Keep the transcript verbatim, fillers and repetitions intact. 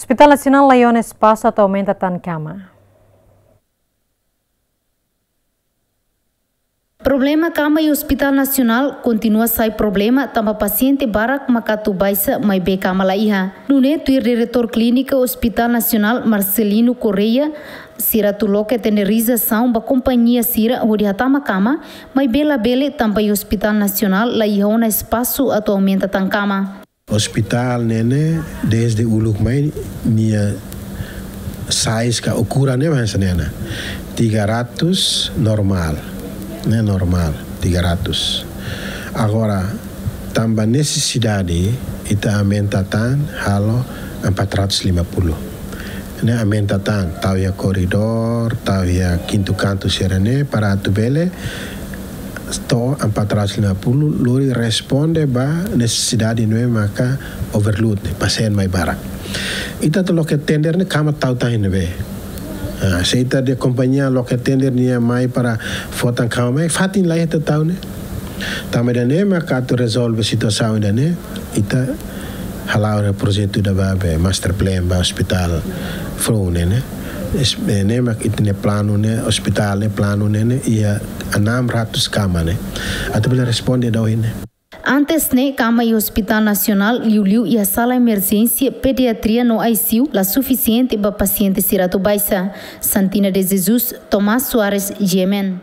Hospital Nasionál laiha ona espasu atu aumenta tan kama. Problema kama iha Hospital Nasionál kontinua sai problema tanba pasiente barak mak atu baixa maibé kama laiha. Nune'e tuir Diretór Klínika Hospital Nasionál Marcelino Correia, sira atu loke tenderizasaun ba kompañia sira hodi hatama kama, maibé labele tanba iha Hospital Nasionál laiha ona espasu atu aumenta tan kama. Hospital ne'e ne'e, desde uluk mai, nia size ka ukuran ne'e hanesan ne'e ona. Tiga ratus normál, ne'e normál, tiga ratus. Agora, tanba nesesidade, ita aumenta tan, halo empat ratus lima puluh. Ne'e aumenta tan, tau iha koridór, tau iha kintu kantu sira-ne'e, para atu bele to'o empat ratus lima puluh, lori responde ba nesesidade ne'ebé maka overload ne'e, pasiente mai barak. Ita atu loke tender ne'e kama tau tan iha ne'ebé. Ah, se ita dehan kompañia loke tender nia mai para fó tan kama mai, fatin laiha atu tau ne'e. Tanba ida-ne'e maka atu rezolve situasaun ida-ne'e, ita hala'o ona projetu ida ba be master plan ba hospital foun ne'e ne'e. Es-, eh, ne'e mak ita-nia planu ne'e, hospital ne'e, planu ne'e ne'e, iha enam ratus kama ne'e. Atu bele responde daudaun ne'e. Antes ne'e, kama iha Hospital Nasionál, liuliu iha sala emerjénsia, pediatria no I C U, la sufisiente ba pasiente sira atu baixa. Santina de Jesus, Tomás Soares, G M N.